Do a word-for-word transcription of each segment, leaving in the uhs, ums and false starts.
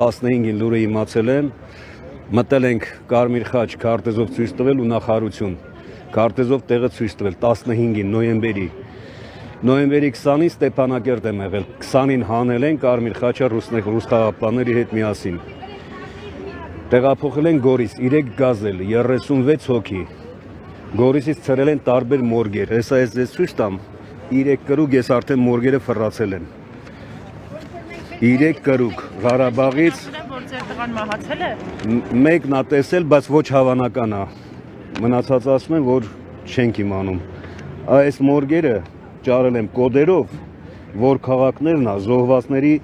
տասնհինգին լուրը իմացել եմ, մտել ենք Կարմիր խաչ քարտեզով ցույց տվել ու նախարարություն քարտեզով տեղը ցույց տվել տասնհինգին նոյեմբերի նոյեմբերի քսանին Ստեփանակերտ եմ եղել, քսանին հանել են Կարմիր խաչը ռուս խաղաղապահների հետ միասին։ Տեղափոխել են Գորիս, երեք գազել, երեսունվեց հոգի։ Գորիսից ցրել են տարբեր մորգեր, հեսա ես ձեզ ցույց տամ, երեք կրուկ ես արդեն մորգերը ֆռացել են։ Երեք կրուկ Ղարաբաղից մեկն ա տեսել, բայց ոչ հավանական է։ Մնացած ասում են, որ չենք իմանում։ Այս մորգերը ճարել եմ կոդերով, որ քաղաքներն է, զոհվածների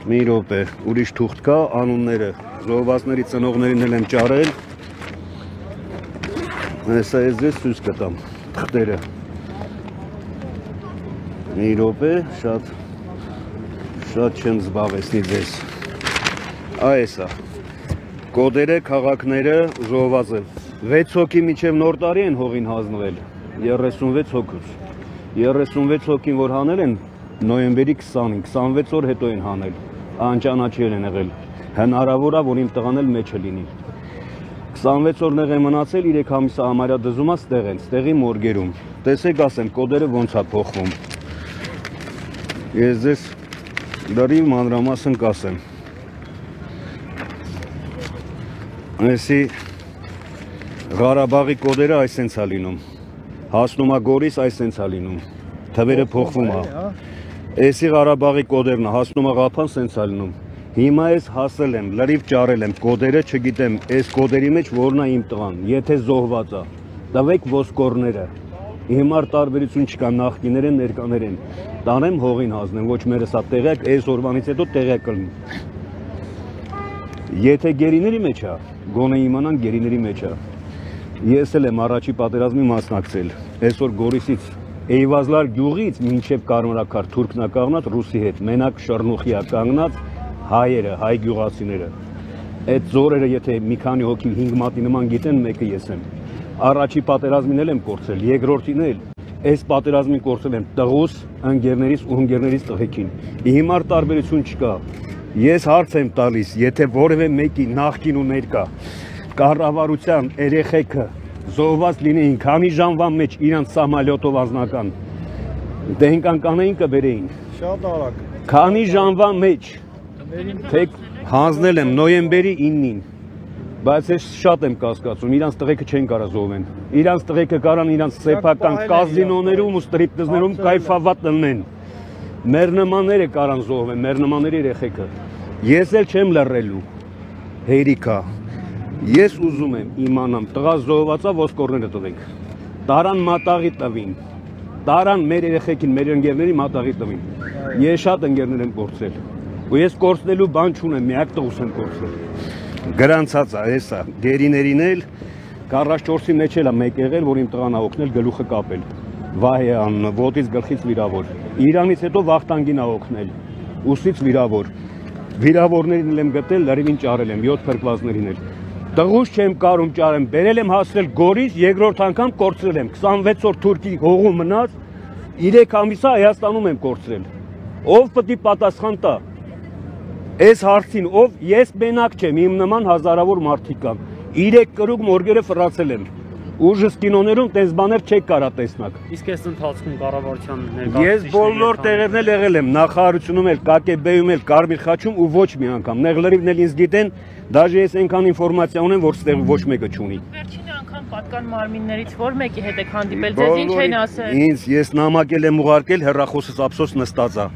մի րոպե, ուրիշ թուղթ կա, անունները, զոհվածների ծնողներին էլ եմ ճարել։ Հեսա ես ձեզ ցույց կտամ թղթերը։ Մի րոպե, շատ շատ չեմ զբաղեցնի ձեզ։ Այս է, կոդերը, քաղաքները, զոհվածը։ վեց հոգի մինչև նոր տարի են հողին հանձնվել, երեսունվեց հոգուց։ երեսունվեց հոգին, որ հանել են նոյեմբերի քսանին, քսանվեց օր հետո են հանել, անճանաչել են եղել, հնարավոր է, որ իմ տղան էլ մեջը լինի։ քսանվեց օր նեղ է մնացել, երեք ամիսը համարյա դզում է ստեղ են, ստեղի մորգերում։ Տեսեք ասեմ, կոդերը ոնց է փոխվում։ Ես ձեզ լրիվ մանրամասն կասեմ։ Այսի Ղարաբաղի կոդերը այսենց է լինում, հասնում է Գորիս այսենց է լինում, թվերը փոխվում է, այսի Ղարաբաղի կոդերն է, հասնում է Ղափան սենց է լինում, հիմա ես հասել եմ, լրիվ ճարել եմ, կոդերը չգիտեմ, այս կոդերի մեջ որն է իմ տղան, եթե զոհված է, տվեք ոսկորները, հիմար տարբերություն չկա, նախկիներ են, ներկաներ են, տանեմ հողին հանձնեմ, ոչ մերս է տեղյակ, այս օրվանից հետո տեղյակ կլինի։ Եթե գերիների մեջ է, գոնե իմանան գերիների մեջ է։ Ես էլ եմ առաջի պատերազմի մասնակցել, այսօր Գորիսից, Էյվազլար գյուղից մինչև Կարմրաքար թուրքն է կանգնած ռուսի հետ, մենակ Շռնուխի է կանգնած հայերը, հայ գյուղացիները։ Այդ զորերը եթե մի քանի հոգի հինգ մատի նման գիտեն, մեկը ես եմ։ Առաջի պատերազմին էլ եմ կորցրել, երկրորդին էլ, այս պատերազմին կորցրել եմ տղուս, ընկերներից ու ընկերներից տղեկին։ Հիմար տարբերություն չկա։ Ես հարց եմ տալիս, եթե որևէ մեկի նախկին ու ներկա կառավարության երեխեքը զոհված լինեին, քանի ժամվա մեջ իրանց սամալյոտով անձնական դենկան կանեին կբերեին։ Շատ արագ։ Քանի ժամվա մեջ թե հանձնել եմ նոյեմբերի իննին, բայց ես շատ եմ կասկածում, իրանց տղեկը չեն կարա զոհվեն։ Իրանց տղեկը կարան իրանց սեփական կազինոներում ու ստրիպտիզներում կայֆավատ տնեն։ Մեր նմանները կարան զոհվեն, մեր նմանների երեխեքը։ Ես էլ չեմ լռելու, հերիքա։ Ես ուզում եմ իմանամ, տղա զոհվածա ոսկորները տվենք, տարան մատաղի տվին, տարան մեր երեխեքին, մեր ընկերների մատաղի տվին։ Ես շատ ընկերներ եմ կորցրել, ու ես կորցնելու բան չունեմ, միակ տղուս եմ կորցրել։ Գրանցած է, հեսա, գերիներին էլ, քառասունչորսի մեջ էլ է մեկ եղել, որ իմ տղան է օգնել գլուխը կապել։ Վահե անունը, ոտից գլխից վիրավոր։ Իրանից հետո Վախտանգին է օգնել, ուսից վիրավոր։ Վիրավորներին եմ գտել, լրիվին ճարել եմ, յոթ փրկվածներին էլ։ Տղուս չեմ կարում ճարեմ, բերել եմ հասրել Գորիս, երկրորդ անգամ կորցրել եմ, քսանվեց օր Թուրքի հողում մնաց, երեք ամիսա Հայաստանում եմ կորցրել։ Ով պետք է պատասխան տա։ Այս հարցին, ով ես մենակ չեմ, իմ նման հազարավոր մարդիկ կան։ Երեք կրուկ մորգերը ֆռացել եմ։ Ուժս կինոներում տես բաներ չեք կարա տեսնակ։ Իսկ այս ընթացքում կառավարության ներկայացուցիչների Ես բոլոր տեղերն էլ եղել եմ, նախարարությունում էլ, ԿԿԲ-ում էլ, Կարմիր խաչում ու ոչ մի անգամ։ Նեղլերիվն էլ ինձ գիտեն, դաժե ես այնքան ինֆորմացիա ունեմ, որ ստեղ ոչ մեկը չունի։ Վերջին անգամ պատկան մարմիններից որ մեկի հետ եք հանդիպել, ձեզ ինչ են ասել։ Ինձ ես նամակել եմ ուղարկել, հեռախոսս ափսոս նստած է։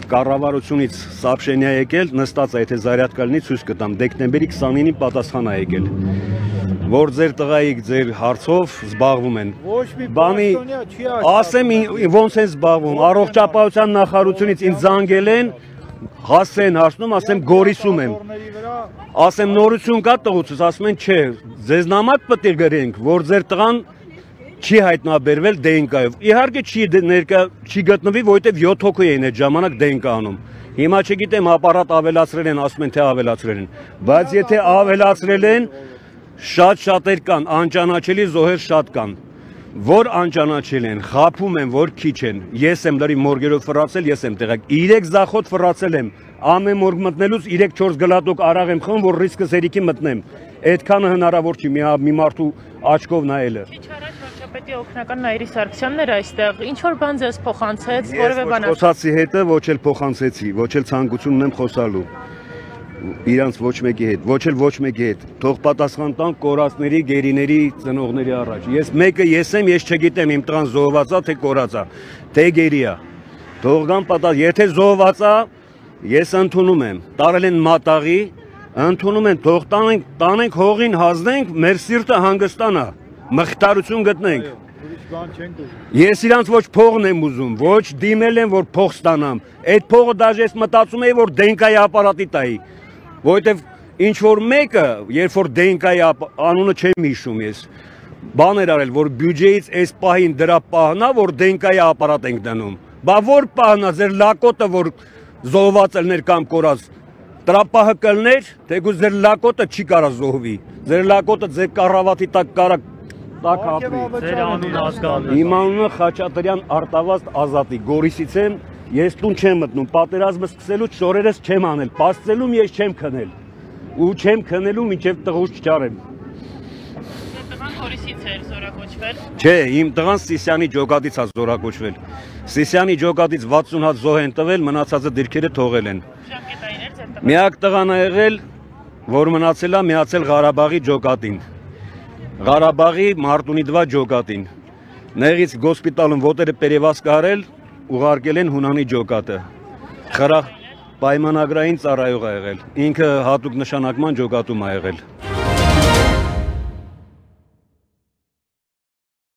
Կառավարությունից սաբշենիա եկել, նստած է, եթե զարյատկա լինի ցույց կտամ, դեկտեմբերի քսանինին պատասխան է եկել։ Որ ձեր տղայիք ձեր հարցով զբաղվում են։ Բանի ասեմ ոնց են զբաղվում, առողջապահության նախարարությունից ինձ զանգել են, հասցեն հարցնում, ասեմ Գորիսում եմ։ Ասեմ նորություն կա տղուցս, ասում են չէ, ձեզ նամակ պետք է գրենք, որ ձեր տղան չի հայտնաբերվել դենկայով։ Իհարկե չի ներկա չի գտնվի, որովհետև յոթ հոգի էին այդ ժամանակ դենկա անում։ Հիմա չգիտեմ ապարատ ավելացրել են, ասում են թե ավելացրել են, բայց եթե ավելացրել են, շատ շատեր կան, անճանաչելի զոհեր շատ կան։ որ անճանաչել են, խափում են, որ քիչ են։ Ես եմ լրի մորգերով ֆրացել, ես եմ տեղակ։ Իրեք զախոտ ֆրացել եմ։ Ամեն մորգ մտնելուց երեք չորս գլատոկ արաղ եմ խմում, որ ռիսկս երիկի մտնեմ։ Այդքանը հնարավոր չի մի մարդու աչքով նայելը։ Քիչ առաջ վարչապետի օգնական Նաիրի Սարգսյանն էր այստեղ։ Ինչ որ բան ձեզ փոխանցեց, որևէ բան։ Ես խոսացի հետը ոչ էլ փոխանցեցի, ոչ էլ ցանկություն ունեմ խոսալու։ Իրանց ոչ մեկի հետ, ոչ էլ ոչ մեկի հետ։ Թող պատասխան տան կորածների, գերիների, ծնողների առաջ։ Ես մեկը ես եմ, ես չգիտեմ իմ տղան զոհվածա թե կորածա, թե գերիա։ Թող գան պատասխան, եթե զոհվածա, ես ընդունում եմ։ Տարել են մատաղի, ընդունում են, թող տանենք, տանենք հողին հազնենք, մեր սիրտը հանգստանա, մխիթարություն գտնենք։ Ես իրանց ոչ փողն եմ ուզում, ոչ դիմել եմ, որ փող ստանամ։ Այդ փողը դաժե ես մտածում էի, որ դենկայի ապարատի տայի։ Որովհետև ինչ որ մեկը, երբ որ դենկայի անունը չեմ հիշում ես, բան էր արել, որ բյուջեից այս պահին դրա պահնա, որ դենկայի ապարատ ենք դնում։ Բա որ պահնա, ձեր լակոտը, որ զոհված ելներ կամ կորած, դրա պահը կլներ, թեկուզ ձեր լակոտը չի կարա զոհվի։ Ձեր լակոտը ձեր կառավատի տակ կարա տակ ապրի։ Ձեր անունը ազգանունը։ Իմ անունը Խաչատրյան Արտավազդ Ազատի, Գորիսից եմ, ես տուն չեմ մտնում, պատերազմը սկսելուց շորերս չեմ անել, պաստելում ես չեմ քնել, ու չեմ քնելու մինչև տղուս չճարեմ։ Տղան Գորիսից էր զորակոչվել։ Չէ, իմ տղան Սիսյանի ջոկատից է զորակոչվել։ Սիսյանի ջոկատից վաթսուն հատ զոհ են տվել, մնացածը դիրքերը թողել են։ Ժամկետային էր ձեր տղան։ Միակ տղան ա եղել, որ մնացել է միացել Ղարաբաղի ջոկատին։ Ղարաբաղի Մարտունիդվա ջոկատին։ Նեղից գոսպիտալում ոտերը պերևաց կարել, ուղարկել են Հունանի ջոկատը։ Խրախ պայմանագրային ծառայող ա եղել։ Ինքը հատուկ նշանակման ջոկատում ա եղել։